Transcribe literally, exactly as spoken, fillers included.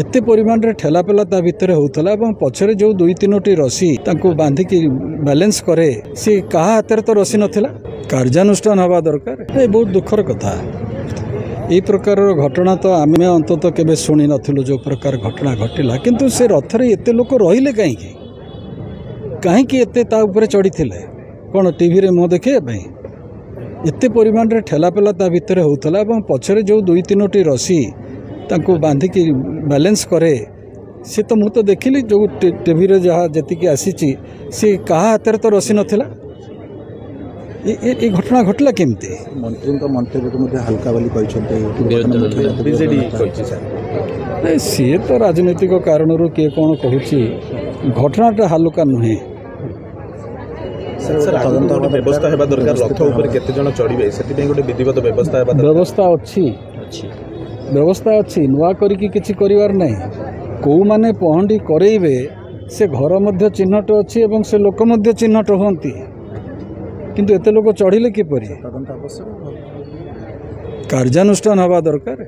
ଏତେ ପରିମାଣରେ ଠେଲାପେଲା ତା ଭିତରେ ହେଉଥିଲା ଏବଂ ପଛରେ ଯେଉଁ ଦୁଇ ତିନୋଟି ରସି ତାଙ୍କୁ ବାନ୍ଧିକି ବାଲାନ୍ସ କରେ, ସେ କାହା ହାତରେ ତ ରସି ନଥିଲା। କାର୍ଯ୍ୟାନୁଷ୍ଠାନ ହେବା ଦରକାର। ଏ ବହୁତ ଦୁଃଖର କଥା। ଏଇ ପ୍ରକାରର ଘଟଣା ତ ଆମେ ଅନ୍ତତଃ କେବେ ଶୁଣି ନଥିଲୁ, ଯେଉଁ ପ୍ରକାର ଘଟଣା ଘଟିଲା। କିନ୍ତୁ ସେ ରଥରେ ଏତେ ଲୋକ ରହିଲେ କାହିଁକି? କାହିଁକି ଏତେ ତା ଉପରେ ଚଢ଼ିଥିଲେ? କ'ଣ ଟିଭିରେ ମୁହଁ ଦେଖାଇବା ପାଇଁ? ଏତେ ପରିମାଣରେ ଠେଲାପେଲା ତା ଭିତରେ ହେଉଥିଲା ଏବଂ ପଛରେ ଯେଉଁ ଦୁଇ ତିନୋଟି ରସି ତାଙ୍କୁ ବାନ୍ଧିକି ବାଲାନ୍ସ କରେ, ସେ ତ ମୁଁ ତ ଦେଖିଲି ଯେଉଁ ଟିଭିରେ ଯାହା ଯେତିକି ଆସିଛି, ସେ କାହା ହାତରେ ତ ରସି ନଥିଲା। ଏ ଘଟଣା ଘଟିଲା କେମିତି? ମନ୍ତ୍ରୀଙ୍କ ମନ୍ତବ୍ୟକୁ ମଧ୍ୟ ହାଲକା ବୋଲି କହିଛନ୍ତି ବିଜେଡି କହିଛି ସାର୍। ନାଇଁ, ସିଏ ତ ରାଜନୈତିକ କାରଣରୁ କିଏ କ'ଣ କହୁଛି, ଘଟଣାଟା ହାଲୁକା ନୁହେଁ। ସାର୍, ଆଗକୁ ଗୋଟେ ବ୍ୟବସ୍ଥା ହେବା ଦରକାର, ରଥ ଉପରେ କେତେ ଜଣ ଚଢ଼ିବେ ସେଥିପାଇଁ ଗୋଟେ ବିଧିବଦ୍ଧ ବ୍ୟବସ୍ଥା ହେବା ଦରକାର। ବ୍ୟବସ୍ଥା ଅଛି, ବ୍ୟବସ୍ଥା ଅଛି, ନୂଆ କରିକି କିଛି କରିବାର ନାହିଁ। କେଉଁମାନେ ପହଣ୍ଡି କରେଇବେ ସେ ଘର ମଧ୍ୟ ଚିହ୍ନଟ ଅଛି ଏବଂ ସେ ଲୋକ ମଧ୍ୟ ଚିହ୍ନଟ ହୁଅନ୍ତି, କିନ୍ତୁ ଏତେ ଲୋକ ଚଢ଼ିଲେ କିପରି? ତଦନ୍ତ ଆବଶ୍ୟକ, କାର୍ଯ୍ୟାନୁଷ୍ଠାନ ହେବା ଦରକାର।